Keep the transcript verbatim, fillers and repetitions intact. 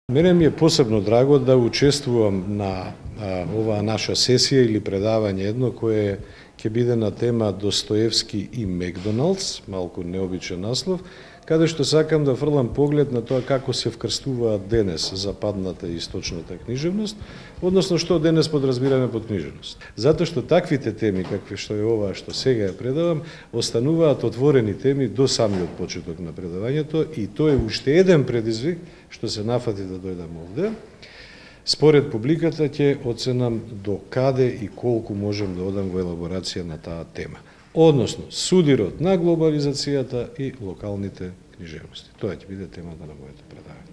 Мене ми е посебно драго да учествувам на а, оваа наша сесија или предавање едно кое ќе биде на тема Достоевски и Макдоналдс, малку необичен наслов, каде што сакам да фрлам поглед на тоа како се вкрстуваат денес западната и источната книжевност, односно што денес подразбираме под книжевност. Затоа што таквите теми, какви што е оваа што сега ја предавам, остануваат отворени теми до самиот почеток на предавањето и тоа е уште еден предизвик што се нафати да дојдам овде. Според публиката ќе оценам до каде и колку можем да одам во елаборација на таа тема. Односно, судирот на глобализацијата и локалните книжевности. Тоа ќе биде темата на моето предавање.